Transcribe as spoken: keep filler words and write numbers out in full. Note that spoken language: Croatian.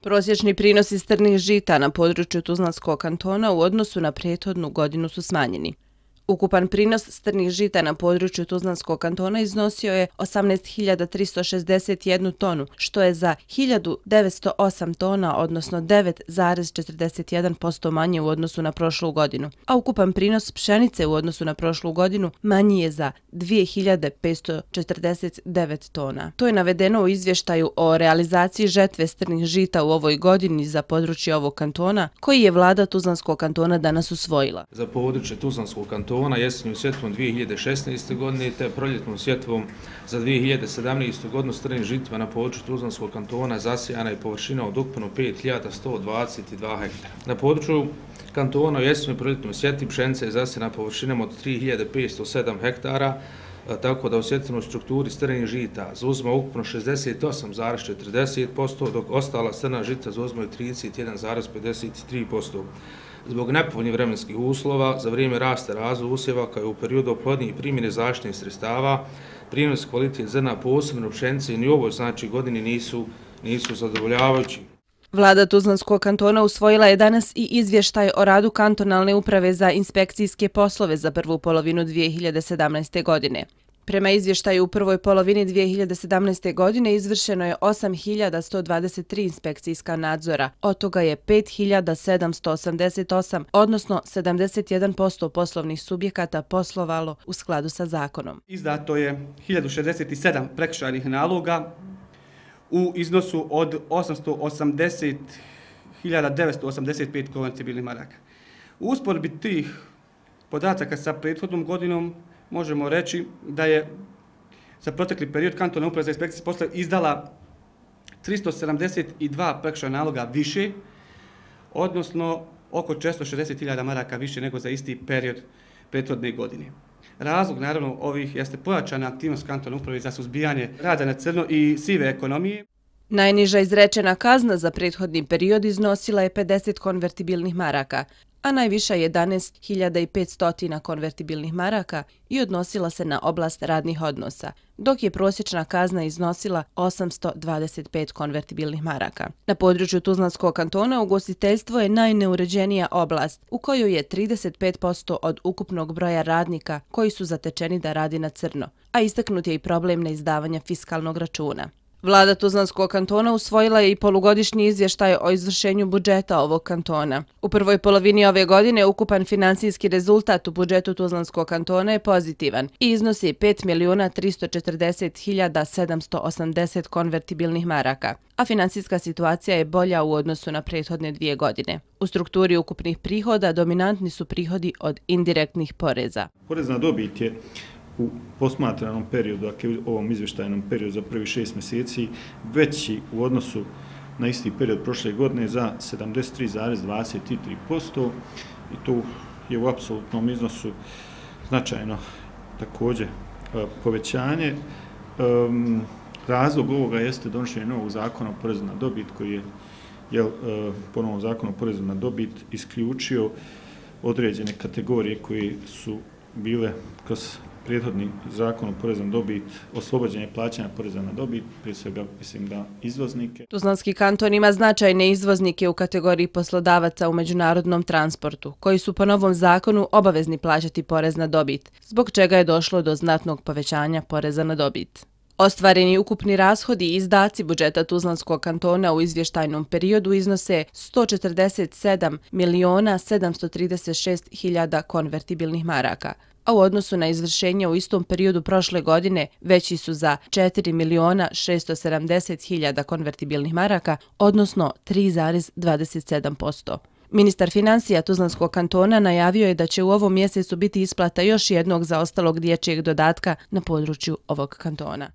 Prosječni prinosi strnih žita na području Tuzlanskog kantona u odnosu na prethodnu godinu su smanjeni. Ukupan prinos strnih žita na području Tuzlanskog kantona iznosio je osamnaest hiljada tristo šezdeset jednu tonu, što je za hiljadu devetsto osam tona, odnosno devet zarez četrdeset jedan posto manje u odnosu na prošlu godinu, a ukupan prinos pšenice u odnosu na prošlu godinu manji je za dvije hiljade petsto četrdeset devet tona. To je navedeno u izvještaju o realizaciji žetve strnih žita u ovoj godini za područje ovog kantona, koji je vlada Tuzlanskog kantona danas usvojila. Za područje Tuzlanskog kantona jesenju sjetvom dvije hiljade šesnaeste. godine te proljetnom sjetvom za dvije hiljade sedamnaestu. godinu strnim žitima na području Tuzlanskog kantona zasijana je površina od ukupno pet hiljada sto dvadeset dva hektara. Na području kantona u jesenju proljetnom sjeti pšenica je zasijana površinom od tri hiljade petsto sedam hektara, tako da u sjetvenoj strukturi strnih žita zauzima ukupno šezdeset osam zarez četrdeset posto, dok ostala strna žita zauzimaju trideset jedan zarez pedeset tri posto. Zbog nepovoljnih vremenskih uslova, za vrijeme rasta razvoja usjeva, kao i u periodu oplodnje i primjene zaštitnih sredstava, prinos kvalitet zrna posebno pšenice ni u ovoj znači godini nisu, nisu zadovoljavajući. Vlada Tuzlanskog kantona usvojila je danas i izvještaj o radu kantonalne uprave za inspekcijske poslove za prvu polovinu dvije hiljade sedamnaeste. godine. Prema izvještaju u prvoj polovini dvije hiljade sedamnaeste. godine izvršeno je osam hiljada sto dvadeset tri inspekcijska nadzora, od toga je pet hiljada sedamsto osamdeset osam, odnosno sedamdeset jedan posto poslovnih subjekata poslovalo u skladu sa zakonom. Izdato je hiljadu šezdeset sedam prekršajnih naloga u iznosu od osamsto osamdeset hiljada devetsto osamdeset pet konvertibilnih maraka. U usporedbi tih podataka sa prethodnom godinom možemo reći da je za protekli period kantonalna uprava za inspekcijske poslove izdala tristo sedamdeset dva prekršajna naloga više, odnosno oko četiristo šezdeset hiljada maraka više nego za isti period prethodne godine. Razlog, naravno, ovih jeste pojačana aktivnost kantonalne uprave za suzbijanje rada na crno i sive ekonomije. Najniža izrečena kazna za prethodni period iznosila je pedeset konvertibilnih maraka, a najviša jedanaest hiljada petsto konvertibilnih maraka i odnosila se na oblast radnih odnosa, dok je prosječna kazna iznosila osamsto dvadeset pet konvertibilnih maraka. Na području Tuzlanskog kantona ugostiteljstvo je najneuređenija oblast, u kojoj je trideset pet posto od ukupnog broja radnika koji su zatečeni da radi na crno, a istaknut je i problem neizdavanja fiskalnog računa. Vlada Tuzlanskog kantona usvojila je i polugodišnji izvještaj o izvršenju budžeta ovog kantona. U prvoj polovini ove godine ukupan finansijski rezultat u budžetu Tuzlanskog kantona je pozitivan i iznosi pet milijuna tristo četrdeset hiljada sedamsto osamdeset konvertibilnih maraka, a finansijska situacija je bolja u odnosu na prethodne dvije godine. U strukturi ukupnih prihoda dominantni su prihodi od indirektnih poreza. Porez na dobit je u posmatranom periodu, dakle u ovom izvještajnom periodu za prvi šest mjeseci, veći u odnosu na isti period prošle godine za sedamdeset tri zarez dvadeset tri posto i to je u apsolutnom iznosu značajno također povećanje. Razlog ovoga jeste donošenje novog zakona o porezu na dobit koji je, jel, po novom zakonu o porezu na dobit isključio određene kategorije koje su bile kroz prethodni zakon o porezu na dobit, oslobođenje plaćanja poreza na dobit, prije svega mislim da izvoznike. Tuzlanski kanton ima značajne izvoznike u kategoriji poslodavaca u međunarodnom transportu, koji su po novom zakonu obavezni plaćati porez na dobit, zbog čega je došlo do znatnog povećanja poreza na dobit. Ostvareni ukupni rashodi i izdaci budžeta Tuzlanskog kantona u izvještajnom periodu iznose sto četrdeset sedam miliona sedamsto trideset šest hiljada konvertibilnih maraka, a u odnosu na izvršenje u istom periodu prošle godine veći su za četiri miliona šesto sedamdeset hiljada konvertibilnih maraka, odnosno tri zarez dvadeset sedam posto. Ministar financija Tuzlanskog kantona najavio je da će u ovom mjesecu biti isplata još jednog zaostalog dječjeg dodatka na području ovog kantona.